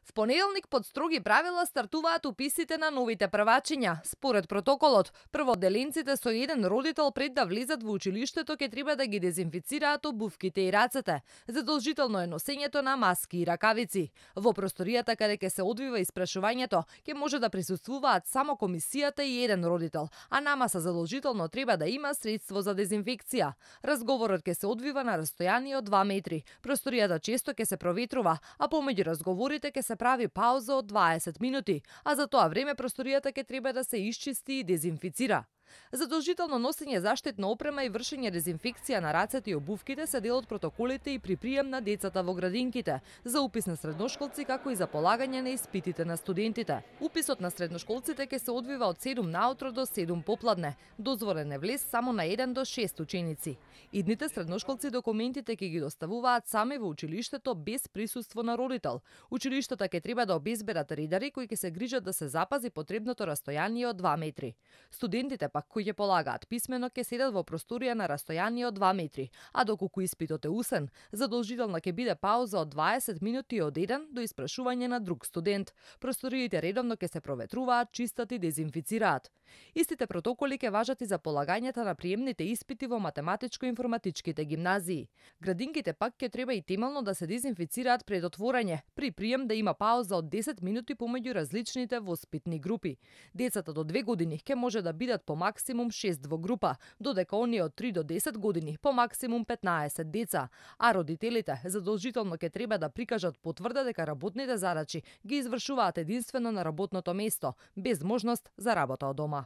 В понеделник под строги правила стартуваат уписите на новите првачиња. Според протоколот, прводеленците со еден родител пред да влезат во училиштето ќе треба да ги дезинфицираат обувките и рацете. Задолжително е носењето на маски и ракавици. Во просторијата каде ќе се одвива испрашувањето, ќе може да присуствуваат само комисијата и еден родител, а намаса задолжително треба да има средство за дезинфекција. Разговорот ќе се одвива на растојание од 2 метри. Просторијата често ќе се проветрува, а помеѓу разговорите ќе се прави пауза од 20 минути, а за тоа време просторијата ќе треба да се исчисти и дезинфицира. Задолжително носење заштитна опрема и вршење дезинфекција на рацете и обувките се дел од протоколите и при прием на децата во градинките, за упис на средношколци како и за полагање на испитите на студентите. Уписот на средношколците ќе се одвива од 7 наутро до 7 попладне. Дозволен е влез само на 1 до 6 ученици. Идните средношколци документите ќе ги доставуваат сами во училиштето без присуство на родител. Училиштата ќе треба да обезбедат редари кои ќе се грижат да се запази потребното растојание од 2 метри. Студентите пак кои ќе полагаат писмено ќе седат во просторија на растојание од 2 метри, а доколку испитот е усен, задолжителна ќе биде пауза од 20 минути од еден до испрашување на друг студент. Просториите редовно ќе се проветруваат, чистат и дезинфицираат. Истите протоколи ќе важат и за полагањето на приемните испити во математичко-информатичките гимназии. Градинките пак ќе треба и темелно да се дезинфицираат пред отворање, при прием да има пауза од 10 минути помеѓу различните воспитни групи. Децата до 2 години ќе може да бидат по максимум 6 во група, додека оние од 3 до 10 години по максимум 15 деца, а родителите задолжително ќе треба да прикажат потврда дека работните задачи ги извршуваат единствено на работното место, без можност за работа од дома.